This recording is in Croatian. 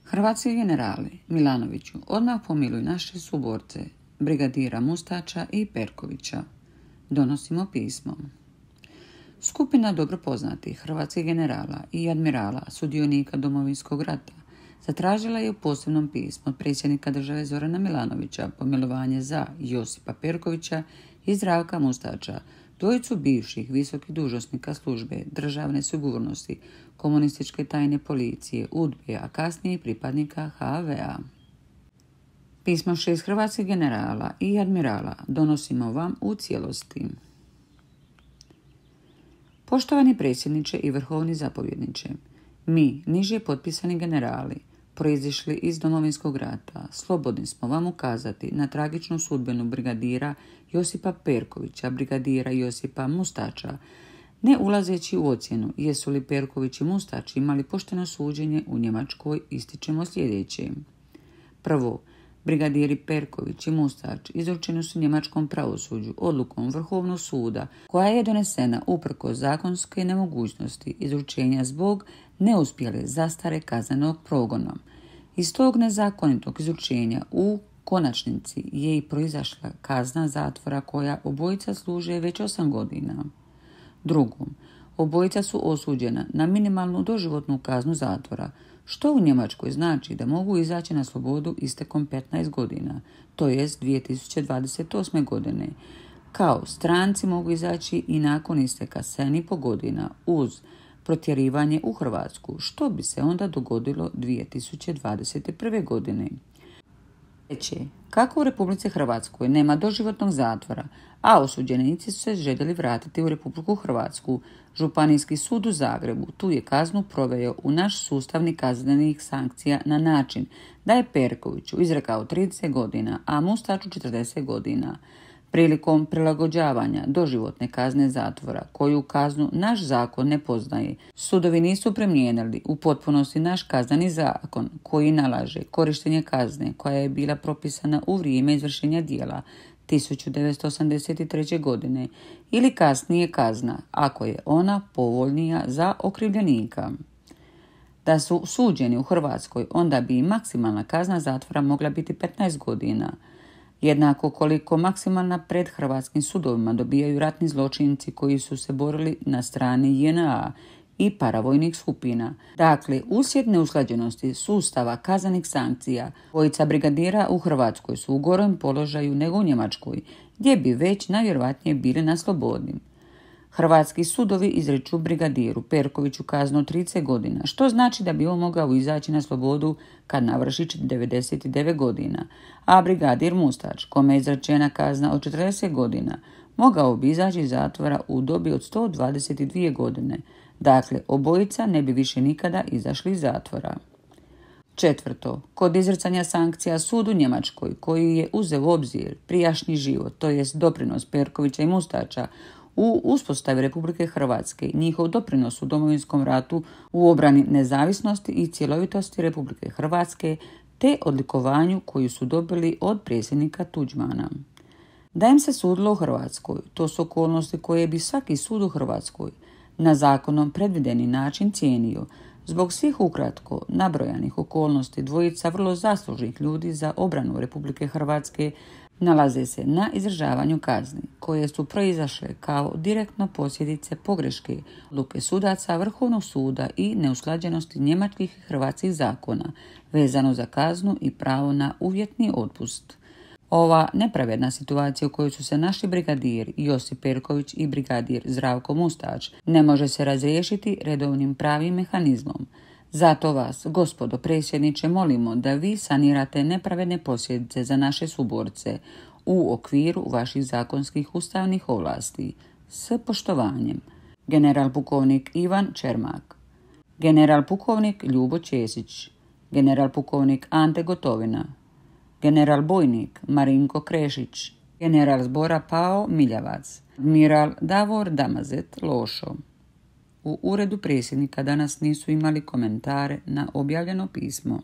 Hrvatski generali Milanoviću, odmah pomiluj naše suborce, brigadira Mustača i Perkovića. Donosimo pismo. Skupina dobro poznatih hrvatskih generala i admirala sudionika Domovinskog rata zatražila je u posebnom pismu od predsjednika države Zorana Milanovića pomilovanje za Josipa Perkovića i Zdravka Mustača, dvojicu bivših visokih dužnosnika službe državne sigurnosti, komunističke tajne policije, UDBE, a kasnije i pripadnika HV-a. Pismo 6 hrvatskih generala i admirala donosimo vam u cijelosti. Poštovani predsjedniče i vrhovni zapovjedniče, mi, niže potpisani generali, proizišli iz Domovinskog rata, slobodni smo vam ukazati na tragičnu sudbinu brigadira Josipa Perkovića, brigadira Josipa Mustača, ne ulazeći u ocjenu jesu li Perković i Mustač imali pošteno suđenje u Njemačkoj, ističemo sljedeće. Prvo, brigadiri Perković i Mustač izručeni su njemačkom pravosuđu odlukom Vrhovnog suda koja je donesena uprkos zakonske nemogućnosti izručenja zbog neuspjele zastare kaznenog progona. Iz tog nezakonitog izručenja u konačnici je i proizašla kazna zatvora koja obojica služe već 8 godina. Drugom, obojica su osuđena na minimalnu doživotnu kaznu zatvora, što u Njemačkoj znači da mogu izaći na slobodu istekom 15 godina, to jest 2028. godine. Kao stranci mogu izaći i nakon isteka 7,5 godina uz protjerivanje u Hrvatsku, što bi se onda dogodilo 2021. godine. Treće, kako u Republici Hrvatskoj nema doživotnog zatvora, a osuđenici su se željeli vratiti u Republiku Hrvatsku, Županijski sud u Zagrebu tu je kaznu proveo u naš sustavni kaznenih sankcija na način da je Perkoviću izrekao 30 godina, a Mustaču 40 godina. Prilikom prilagođavanja doživotne kazne zatvora, koju kaznu naš zakon ne poznaje, sudovi nisu primijenili u potpunosti naš kazneni zakon koji nalaže korištenje kazne koja je bila propisana u vrijeme izvršenja djela 1983. godine ili kasnije kazna, ako je ona povoljnija za okrivljenika. Da su suđeni u Hrvatskoj, onda bi maksimalna kazna zatvora mogla biti 15 godina. Jednako koliko maksimalna pred hrvatskim sudovima dobijaju ratni zločinci koji su se borili na strani JNA i paravojnih skupina. Dakle, uslijed neusklađenosti sustava kaznenih sankcija, dvojica brigadira u Hrvatskoj su u gorem položaju nego u Njemačkoj, gdje bi već najvjerojatnije bili na slobodi. Hrvatski sudovi izriču brigadiru Perkoviću kaznu 30 godina, što znači da bi on mogao izaći na slobodu kad navrši 99 godina, a brigadir Mustač, kome je izrečena kazna od 40 godina, mogao bi izaći iz zatvora u dobi od 122 godine. Dakle, obojica ne bi više nikada izašli iz zatvora. Četvrto, kod izricanja sankcija sud u Njemačkoj, koji je uzeo u obzir prijašnji život, to jest doprinos Perkovića i Mustača u uspostavi Republike Hrvatske, njihov doprinos u Domovinskom ratu u obrani nezavisnosti i cjelovitosti Republike Hrvatske, te odlikovanju koju su dobili od predsjednika Tuđmana. Da im se sudilo u Hrvatskoj, to su okolnosti koje bi svaki sud u Hrvatskoj na zakonom predvideni način cijenio. Zbog svih ukratko nabrojanih okolnosti dvojica vrlo zaslužnih ljudi za obranu Republike Hrvatske nalaze se na izdržavanju kazni, koje su proizašle kao direktno posljedice pogreške odluke sudaca Vrhovnog suda i neusklađenosti njemačkih i hrvatskih zakona vezano za kaznu i pravo na uvjetni otpust. Ova nepravedna situacija u kojoj su se našli brigadir Josip Perković i brigadir Zdravko Mustač ne može se razriješiti redovnim pravim mehanizmom. Zato vas, gospodo predsjedniče, molimo da vi sanirate nepravedne posljedice za naše suborce u okviru vaših zakonskih ustavnih ovlasti. S poštovanjem. General pukovnik Ivan Čermak, general pukovnik Ljubo Ćesić, general pukovnik Ante Gotovina, general bojnik Marinko Krešić, general zbora Pao Miljavac, admiral Davor Damazet Lošo. U uredu predsjednika danas nisu imali komentare na objavljeno pismo.